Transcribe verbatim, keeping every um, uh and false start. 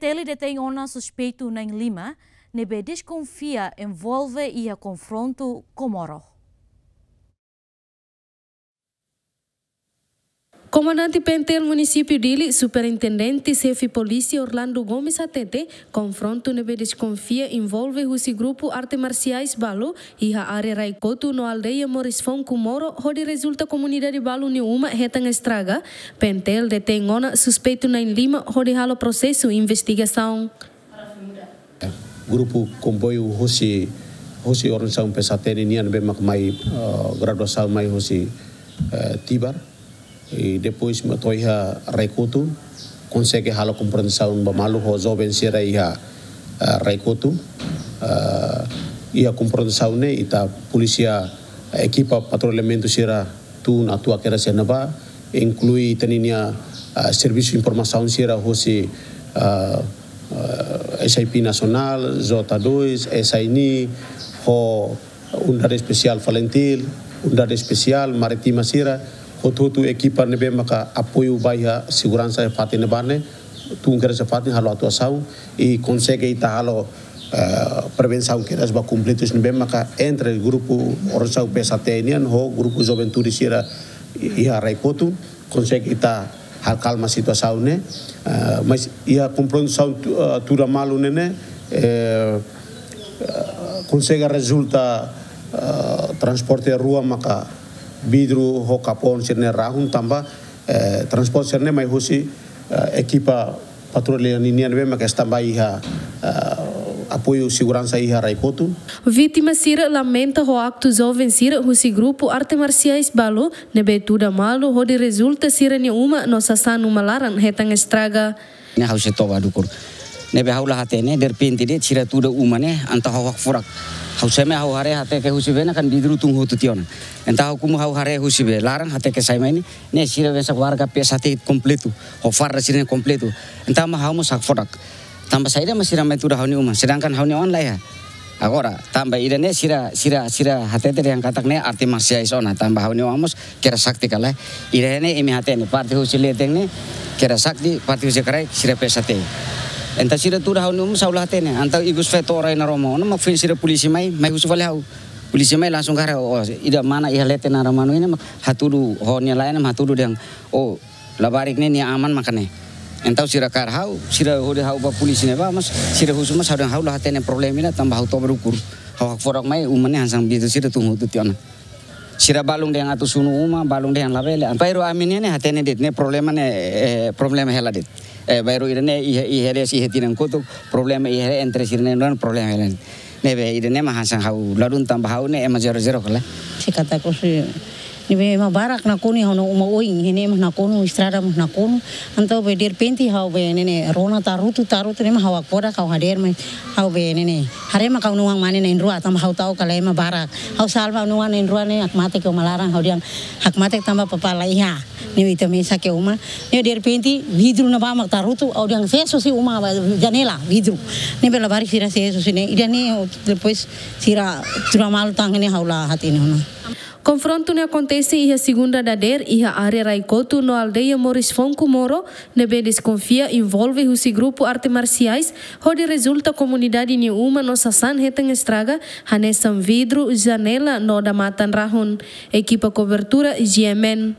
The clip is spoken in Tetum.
Teli detein ona suspeitu na'in-lima ne'ebé deskonfia envolve iha konfrontu Comoro. Komandante P N T L Munisípiu Dili, Superintendente Xefe Polísia Orlando Gomes hatete, konfrontu ne'ebé deskonfia envolve husi grupu arte marsiais balu iha área Raikotu no aldeia Moris Fonku Moro, hodi rezulta komunidade balu nia uma hetan estraga. P N T L detein ona suspeitu na'in-lima hodi halo prosesu investigasaun. Grupu komboiu husi, husi organizasaun P S H T nian ne'ebé mak mai, eh, graduasaun mai husi, eh, Tibar. I depois mak to'o iha Raikotu, konsege halo konfrontasaun ba malu ho joven sira iha, eh, Raikotu. Eh, iha konfrontasaun ne'e ita polísia, eh, ekipa patrullamentu sira tun atu akera sena ba, inklui ita-nia, ah, servisu informasaun sira husi, ah, ah, S I P Nasionál, J dois, S I N I, ho Unidade Espesiál Falintil, Unidade Espesiál Marítima sira, hotu-hotu ekipa ne'ebé maka apoiu ba iha seguransa iha fatin ne'ebá ne'e, tun kedas iha fatin halo atuasaun, i konsege ita halo, eh, prevensaun kedas ba konflitus ne'ebé maka entre grupu organizasaun P S H T nian ho grupu juventude sira iha Raikotu, konsege ita halo kalma situasaun ne'e, eh, mas iha konfrontasaun tu-, eh, tuda malu ne'e ne'e, eh, eh, konsege rezulta, eh, transporte rua maka vidru ho kapon sira-ne'e rahun tanba, eh, transporte sira-ne'e mai husi, eh, ekipa patrulla ninian ne'ebé maka standby iha, eh, apoiu seguransa iha Raikotu. Vítima sira lamenta ho aktu joven sira husi grupu arte marsiais balu ne'ebé tuda malu hodi rezulta sira-nia uma no sasán uma laran hetan estraga. Ne'e ha'u sei toba dukur. Ne'ebé ha'u la hatene, derrepente de'it sira tuda uma ne'e, entaun ha'u hakfodak. Ha'u sa'e mai ha'u haree hateke husi bee ne'e kan vidru tun hotu tiha ona. Entaun ha'u komu ha'u haree husi bee laran hateke sai mai ne'e, ne'e sira mesak warga P S H T kompletu, ho farda sira-ne'e kompletu. Entaun mak ha'u mós hakfodak. Tanba saida mak sira mai tuda ha'u-nia uma, sedangkan ha'u-nia oan la iha. Agora, tanba ida-ne'e sira, sira, sira hatete dehan katak ne'e arte marsiais ona, tanba ha'u-nia oan mós kera sakti ka lae. Ida-ne'e imi hatene, parte husi leten ne'e kera sakti, parte husi kraik sira P S H T. Entaun sira tuda ha'u-nia uma ha'u la hatene, entaun ikus feto orai na roma ona, mak foin sira polísia mai, mai husu fali ha'u. Polísia mai langsung kaer, oh, ida mana iha leten naran manu ne'e mak hatudu, ho nia laen mak hatudu dehan, oh, labarik ne'e nia aman maka ne'e. Entaun sira kaer ha'u, sira hodi ha'u ba polísia ne'ebá, mas sira husu mas ha'u dehan ha'u la hatene problema ida tanba ha'u toba dukur. Ha'u hakfodak mai uma ne'e hanesan vidru sira tun hotu tiha ona. Sira balun dehan atu sunu uma, balun dehan labele. Bainhira ami ne'e hatene de'it ne'e problema ne'e, eh, problema hela de'it. Eh, bainhira ida-ne'e iha, iha de'it iha tinan kotuk, problema iha entre sira-ne'e problema hela. Ne'ebé ida-ne'e mak hanesan ha'u ladún tanba ha'u ne'e ema zero zero ka lae. Se katak husi ne'ebé ema barak nakonu ha'u-nia uma oin, ne'e ema nakonu, estrada ema nakonu. Entaun be derrepente ha'u be ne'e ne'e rona tarutu, tarutu ne'e mak ha'u hakfodak ha'u hadeer mai ha'u be ne'e ne'e. Haree mak ha'u-nia oan mane na'in-rua tanba ha'u ta'uk ka lae ema barak. Ha'u salva ha'u-nia oan na'in-rua ne'e hakmatek iha uma laran ha'u dehan hakmatek tanba papá la iha. Ne'e ita mesak iha uma. Ne'e derrepente vidru ne'ebá mak tarutu ha'u dehan fesu husi uma ba janela vidru. Ne'ebé labarik sira fesu husi ne'e. Ida-ne'e depois sira tuda malu tan ne'e ha'u la hatene ona. Konfrontu ne'e akontese iha segunda dadeer iha área Raikotu no aldeia Moris Fonku Moro, ne'ebé deskonfia envolve husi grupu arte marsiais, hodi rezulta komunidade nia uma no sasán hetan estraga, hanesan vidru, janela no odamatan rahun. Ekipa kobertura G M N.